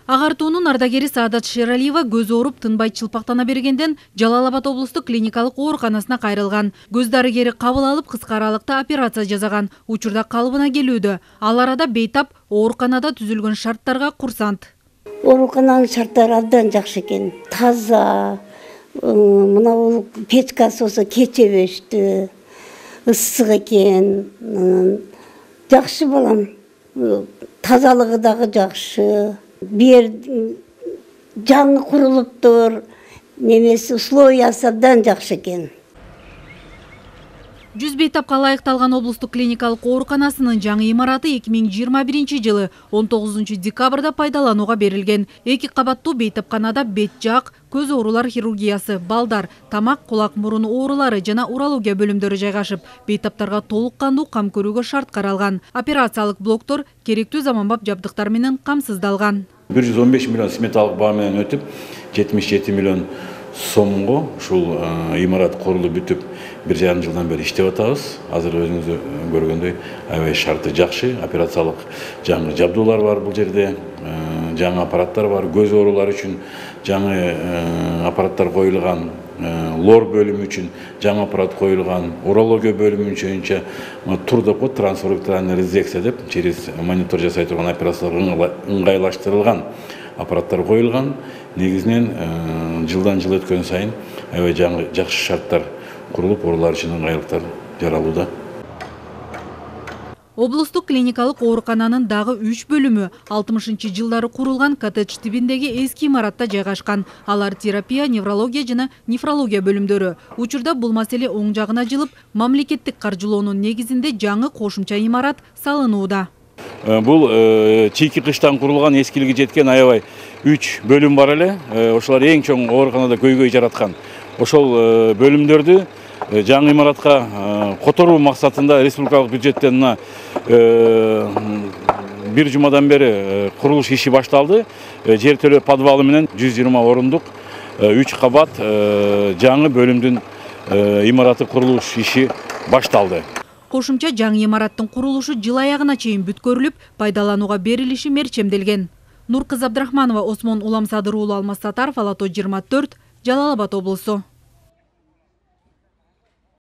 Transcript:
Агартуунун ардагери Саадат Шералиева көз ооруп тынбай чылпактана бергенден Жалал Абад облустук клиникалык ооруканасына кайрылган. Көз дарыгери кабыл алып кыска аралыкта операция жасаган. Учурда калыбына келүүдө. Ал арада бейтап ооруканада түзүлгөн шарттарга курсант. Оорукананын шарттары абдан жакшы экен. Таза, мына бул печкасы болсо кечебештүү, ысык экен. Жакшы балам. Тазалыгы дагы жакшы. Бир жаңы курулуптур. Немеси условиясы абдан жакшы экен. 100 бейтапка ылайыкталган облустук клиникалык ооруканасынын жаңы имараты 2021 жылы 19 декабрда пайдаланууга берилген. 2 кабаттуу бейтапканада бет жак, көз оорулар хирургиясы, балдар, тамак, кулак мурун оорулары жана урология бөлүмдөрү жайгашып, бейтаптарга толук кандуу кам көрүүгө шарт каралган. Операциялык блоктор керектүү заманбап жабдыктар менен камсыздалган. 115 миллион сметалык баа менен өтүп, 77 миллион сомго ушул имарат курулуп бүтүп, 1,5 жылдан бери иштеп атабыз. Азыр өзүңүз көргөндөй аябай шарты жакшы, операциялык жаңы жабдуулар бар бул жерде, жаңы аппараттар бар, көз оорулары үчүн жаңы аппараттар коюлган, лор бөлүмү үчүн жаңы аппарат коюлган, урология бөлүмү үчүн тур деп коет, трансферокторальная резекция деп, через монитор жасай турган операциялар ыңгайлаштырылган аппараттар коюлган. Негизинен жылдан жыл өткөн сайын аябай жаңы жакшы шарттар курулуп, оорулар үчүн ыңгайлыктар жаралууда. Облустук клиникалык оорукананын дагы 3 бөлүмү 60 жылдары курулган коттедж тибиндеги эски имаратта жайгашкан. Алар терапия, неврология жана нефрология бөлүмдөрү. Учурда бул маселе оң жагына жылып, мамлекеттик каржылоонун негизинде жаңы кошумча имарат салынууда. Бул чийки кыштан курулган, эскилиги жеткен аябай 3 бөлүм бар эле. Ошолор эң чоң ооруканада көйгөй жараткан. Ошол бөлүмдөрдү жаңы имаратка которуу максатында республикалык бюджеттен 1 жумадан бери курулуш иши башталды. Жер төлөө подвалы менен 120 орундук 3 кабат жаңы бөлүмдүн имараты курулуш иши башталды. Кошумча жаңы имараттын курулушу жыл аягына чейин бүткөрүлүп, пайдаланууга берилиши мерчемделген. Нуркызы Абдрахманова, Осмон Уламсадыр уулу, Алмаз Сатаров, Ала тоо 24, Жалал Абад облусу.